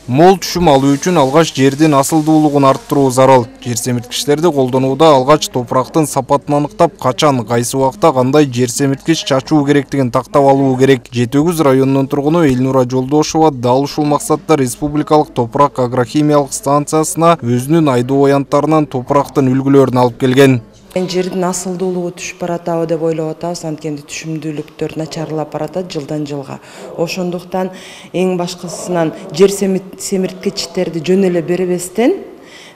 Мол түшүм алуу үчүн алгач жердин асылдуулугун арттыруу зарыл. Жер семирткичтерди колдонууда алгач топурактын сапатын аныктап, качан, кайсы убакта кандай жер семирткич чачуу керектигин тактап алуу керек. Жети-Өгүз районунун тургуну Элнура Жолдошова дал ушул максатта республикалык топурак агрохимиялык станциясына өзүнүн айдоо аянттарынан топурактын үлгүлөрүн алып келген. Жердин асылдуулугу түшүп баратабы деп ойлоп атабыз, анткени түшүмдүүлүктөр начарлап баратат жылдан жылга. Ошондуктан эң башкысынан жер семирткичтерди жөн эле бербестен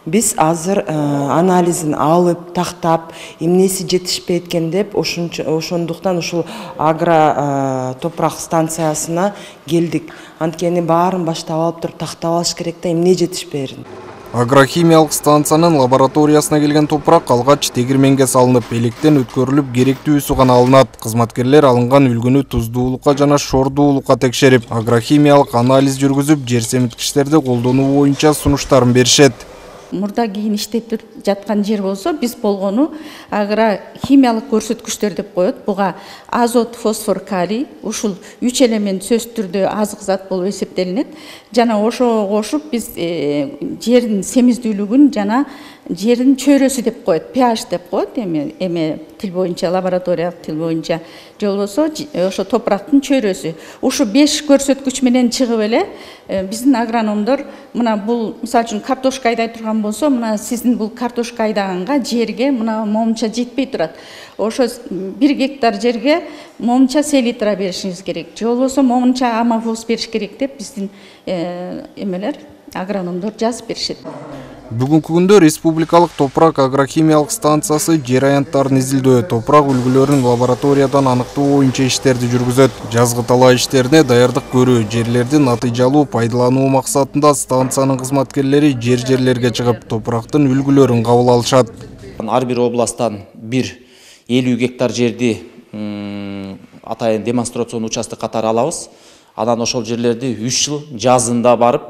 биз азыр анализин алып, тактап, эмнеси жетишпей экен деп ошондуктан ушул топурак станциясына келдик. Анткени баарын баштап алып туруп тактап алыш керек да, эмне жетишпээрин. Агрохимиялык станциянын лабораториясына келген топурак алгач тегирменге салынып, электен өткөрүлүп, керектүүсү гана алынат. Кызматкерлер алынган үлгүнү туздуулукка жана шордуулукка текшерип, агрохимиялык анализ жүргүзүп, жер семирткичтерди колдонуу боюнча сунуштарын беришет. Мурда кийин иштеп жаткан жер болсо, биз болгону агрохимиялык көрсөткүчтөр деп коет. Буга азот, фосфор, калий, ушул 3 элемент сөзсүз түрдө азык зат болуп эсептелинет. Жана ошого кошуп биз жердин семиздүүлүгүн жана жердин чөйрөсү деп коет, pH деп коет эме тил боюнча, лабораториялык тил боюнча. Же болбосо ошо топурактын чөйрөсү. Ушу 5 көрсөткүч менен чыгып эле биздин агрономдор мына бул мисалы үчүн картошка айдай турган болсо, мына сиздин бул картошка айдаганга жерге мына момунча жетпей турат. Ошо 1 гектар жерге момунча селитра беришиңиз керек. Же болбосо момунча амафос бериш керек деп биздин эмелер агрономдор жазып беришет. Бүгүнкү күндө республикалык топурак агрохимиялык станциясы жер аянттарын изилдөө, топурак үлгүлөрүн лабораториядан аныктоо боюнча иштерди жүргүзөт. Жазгы талаа иштерине даярдык көрүү, жерлерди натыйжалуу пайдалануу максатында станциянын кызматкерлери жерлерге чыгып, топурактын үлгүлөрүн кабыл алышат. Ар бир областтан 50 гектар жерди атайын демонстрационный участок катары алабыз. Анан ошол жерлерди 3 жыл жазында барып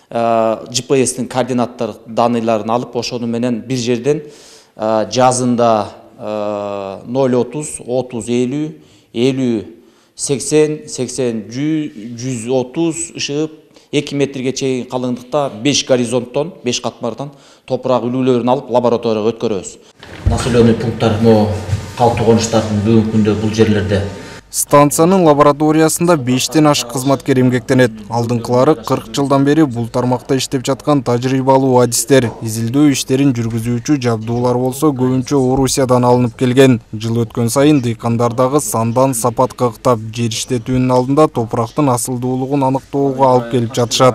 GPS-тин координаттар даныйларын алып, ошону менен бир жерден жазында 0-30, 30-50, 50-80, 80-100-130 ышыгып 2 метрге чейин калыңдыкта 5 горизонттон, 5 катмардан топурак үлгүлөрүн алып лабораторияга өткөрөбүз. Населенный пункттар, калктуу конуштардын бүгүнкү күндө бул жерлерде. Станциянын лабораториясында 5тен ашык кызматкер эмгектенет. Алдыңкылары 40 жылдан бери бул тармакта иштеп жаткан тажрыйбалуу адистер. Изилдөө иштерин жүргүзүүчү жабдуулар болсо көбүнчө Орусиядан алынып келген. Жыл өткөн сайын дыйкандардагы сандан сапат кыктап, жер иштетүүнүн алдында топурактын асылдуулугун аныктоого алып келип жатышат.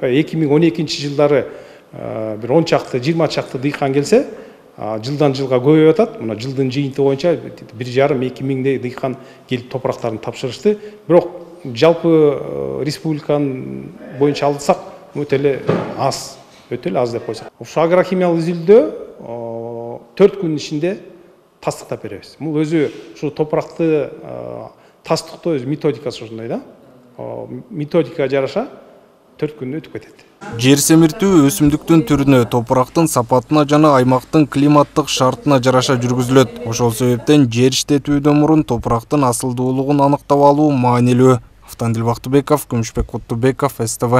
2012-жылдары бир 10 чакты, 20 чакты дыйкан келсе, жылдан жылга көбөйүп атат. Мына жылдын жыйынтыгы боюнча 1,5-2 миңдей дыйкан келип топурактарын тапшырышты. Бирок жалпы республиканын боюнча алсак, өтө эле аз деп койсок. Ушу агрохимиялык изилдөө 4 күн ичинде тастыктап беребиз. Бул өзү ушу топуракты тастыктоо өзү методикасы ушундай да. Методикага жараша 4 күндө өтүп кетет. Жер семиртүү өсүмдүктүн түрүнө, топурактын сапатына жана аймактын климаттык шартына жараша жүргүзүлөт. Ошол себептен жер иштетүүдөн мурун топурактын асылдуулугун аныктап алуу маанилүү. Автандил Бактыбеков, Күмүшбек Куттубеков, СТВ.